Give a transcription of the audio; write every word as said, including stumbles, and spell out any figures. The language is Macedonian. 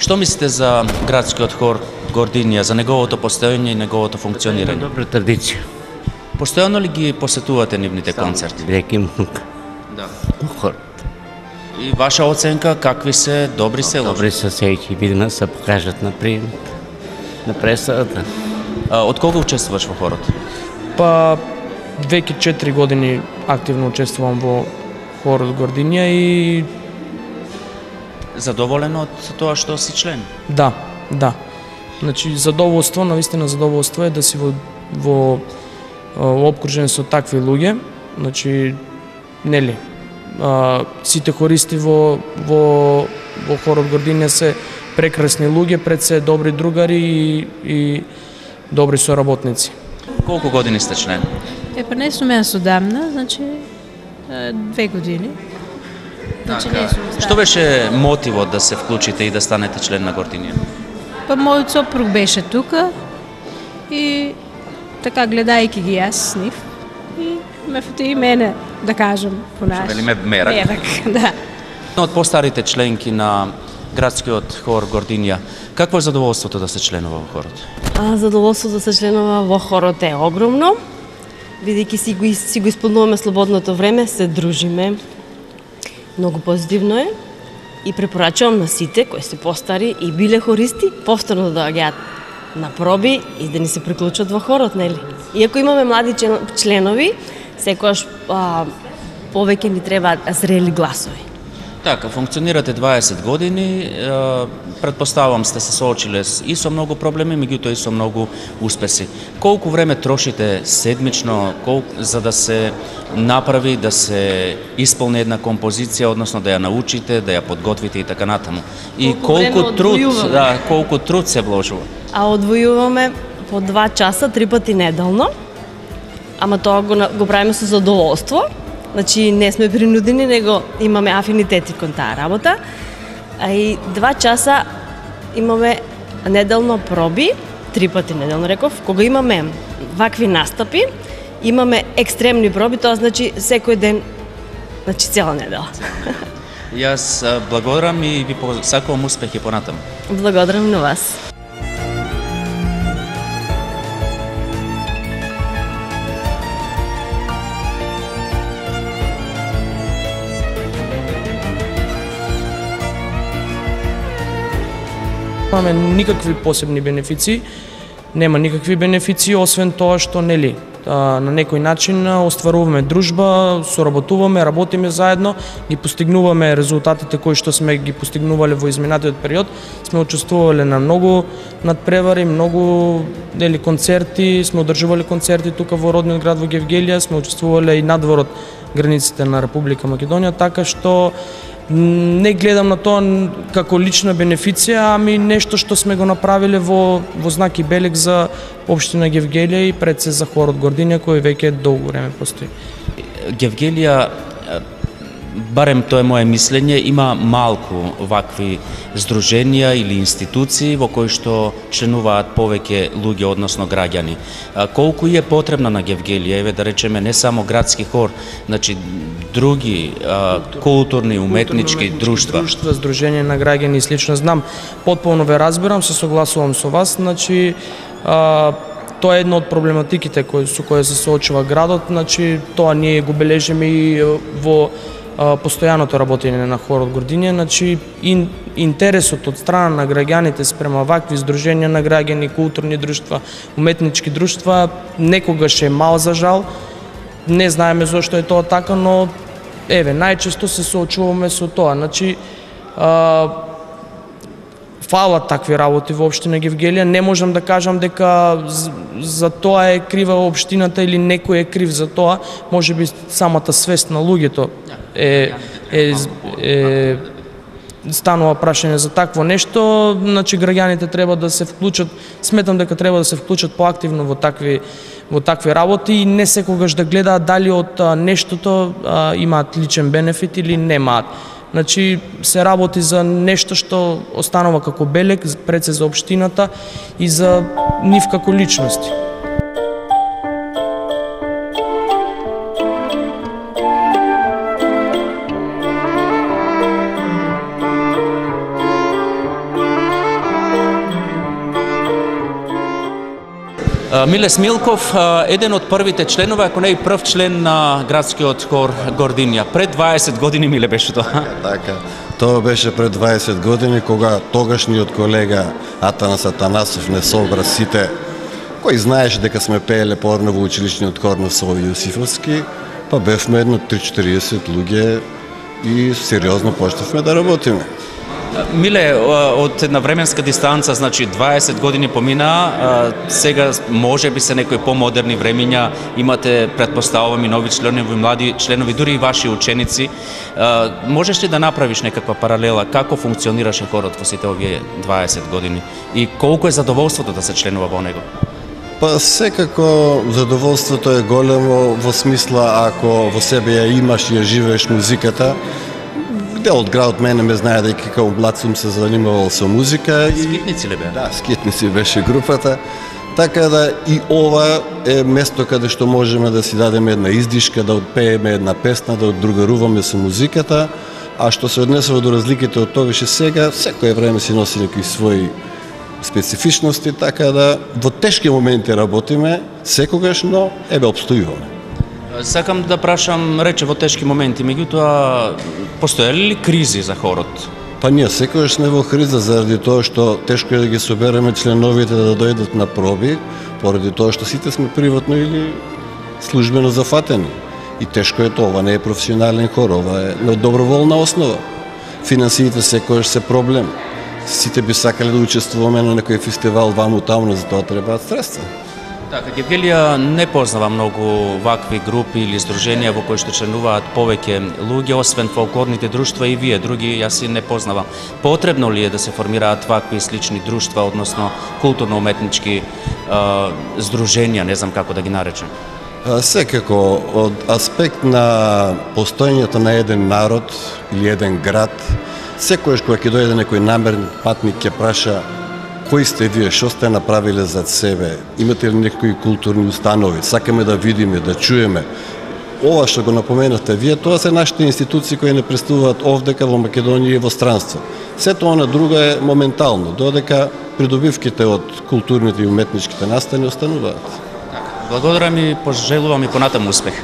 Што мислите за градскиот хор Гординија, за неговото постоење и неговото функционирање? Добра традиција. Постојано ли ги посетувате нивните концерти? Веќе многу. Да. Хор. И ваша оценка какви се, добри се, лоши? Добри се, се ќе видиме, се покажат на прием, на пресадата. А, од кога учествуваш во хорот? Па веќе четири години активно учествувам во хорот Гординија и Задоволен од тоа што си член? да, да. Значи задоволство, навистина задоволство е да си во во во опкружен со такви луѓе, значи нели а, сите хористи во во во хорот Гординија се прекрасни луѓе, пред се добри другари и, и добри соработници. Колку години сте член? Е, па не сум јас одамна, значи е, две години. Значи не сум стара. Што беше мотивот да се вклучите и да станете член на Гординија? Па мојот сопруг беше тука и така гледајќи ги јас с нив и ме фати и мене, да кажам, понаш. Вели ме мерак. Мерак, да. Од постарите членки на градскиот хор Гординија, какво е задоволството да се членува во хорот? А, задоволството да се членува во хорот е огромно, бидејќи си го, си го исполнуваме слободното време, се дружиме. Многу позитивно е и препорачувам на сите кои се постари и биле хористи повторно да доаѓаат на проби и да ни се приклучат во хорот, нели? Иако имаме млади членови, секогаш а, повеќе ни требаат зрели гласови. Така, функционирате дваесет години, предпоставам сте се соочиле и со многу проблеми, меѓутоа и со многу успеси. Колку време трошите седмично колку, за да се направи, да се исполни една композиција, односно да ја научите, да ја подготвите и така натаму? И Колку колку труд, одвојуваме? да, колку труд се вложува? А одвојуваме по два часа, три пати неделно, ама тоа го, на- го правиме со задоволство. Значи не сме принудени, него имаме афинитети кон таа работа. А и два часа имаме неделно проби, три пати неделно реков, кога имаме вакви настапи, имаме екстремни проби, тоа значи секој ден, значи цела недела. Јас а, благодарам и ви посакувам успех и понатаму. Благодарам на вас. Немаме никакви посебни бенефиции, нема никакви бенефиции, освен тоа што нели а, на некој начин а, остваруваме дружба, соработуваме, работиме заедно, ги постигнуваме резултатите кои што сме ги постигнувале во изминатиот период. Сме учествувале на многу надпревари, многу нели концерти, сме одржувале концерти тука во родниот град во Гевгелија, сме учествувале и надвор од границите на Република Македонија, така што не гледам на тоа како лична бенефиција, ами нешто што сме го направиле во, во знак и белег за општина Гевгелија и пред се за хорот Гординија, кој веќе долго време постои. Гевгелија, барем тоа е мое мислење, има малку вакви здруженија или институции во кои што членуваат повеќе луѓе, односно граѓани. А, колку е потребна на Гевгелија, еве да речеме не само градски хор, значи други а, културни, уметнички друштва. Друштва, здруженија на граѓани и слично. Знам, потполно ве разбирам, се согласувам со вас, значи а, тоа е една од проблематиките кои со кои се соочува градот, значи тоа ние го бележиме и во а, постојаното работење на хорот Гординија, значи ин, интересот од страна на граѓаните спрема вакви здруженија на граѓани, културни друштва, уметнички друштва некогаш е мал за жал. Не знаеме зошто е тоа така, но еве најчесто се соочуваме со тоа. Значи а, фалат такви работи во општина Гевгелија. Не можам да кажам дека за тоа е крива општината или некој е крив за тоа. Можеби самата свест на луѓето е, е, е станува прашање за такво нешто. Значи граѓаните треба да се вклучат, сметам дека треба да се вклучат поактивно во такви во такви работи и не секогаш да гледаат дали од а, нештото а, имаат личен бенефит или немаат. Значи се работи за нешто што останува како белег пред се за општината и за нив како личности. Миле Смилков, еден од првите членови, ако не и прв член на градскиот хор Гординја. Пред дваесет години, Миле, беше тоа? Така, тоа беше пред дваесет години, кога тогашниот колега Атанас Атанасов не собра сите, кој знаеше дека сме пееле порно во училишниот хор на Сови Јосифовски, па бевме едно три-четириесет луѓе и сериозно почнавме да работиме. Миле, од една временска дистанца, значи дваесет години помина, сега може би се некои помодерни времиња, имате, предпоставувам, и нови членови, млади членови, дури и ваши ученици. Можеш ли да направиш некаква паралела како функционираше хорот во сите овие дваесет години и колку е задоволството да се членува во него? Па секако задоволството е големо во смисла ако во себе ја имаш и ја живееш музиката. Дел од градот мене ме знае дека како млад сум се занимавал со музика. Скитници ли беа? Да, Скитници беше групата. Така да и ова е место каде што можеме да си дадеме една издишка, да отпееме една песна, да одругаруваме со музиката. А што се однесува до разликите од тогаш и сега, секој време си носи некои своји специфичности, така да во тешки моменти работиме секогаш, но ебе обстојуваме. Сакам да прашам, рече во тешки моменти, меѓутоа постоеле ли кризи за хорот? Па ние секогаш сме во криза заради тоа што тешко е да ги собереме членовите да дојдат на проби, поради тоа што сите сме приватно или службено зафатени. И тешко е тоа, ова не е професионален хор, ова е на доброволна основа. Финансиите секогаш се проблем. Сите би сакале да учествуваме на некој фестивал ваму таму, за тоа требаат средства. Така, Гевгелија не познава многу вакви групи или здруженија во кои што членуваат повеќе луѓе, освен фолклорните друштва и вие, други јас и не познавам. Потребно ли е да се формираат вакви слични друштва, односно културно-уметнички здруженија, не знам како да ги наречем? Секако, од аспект на постоењето на еден народ или еден град, секојаш кога ќе дојде некој намерен патник ќе праша кои сте вие, што сте направиле зад себе, имате ли некои културни установи, сакаме да видиме, да чуеме. Ова што го напоменавте вие, тоа се нашите институции кои не представуваат овдека во Македонија и во странство. Сето она друго е моментално, додека придобивките од културните и уметничките настани остануваат. Благодарам и пожелувам и понатаму успех.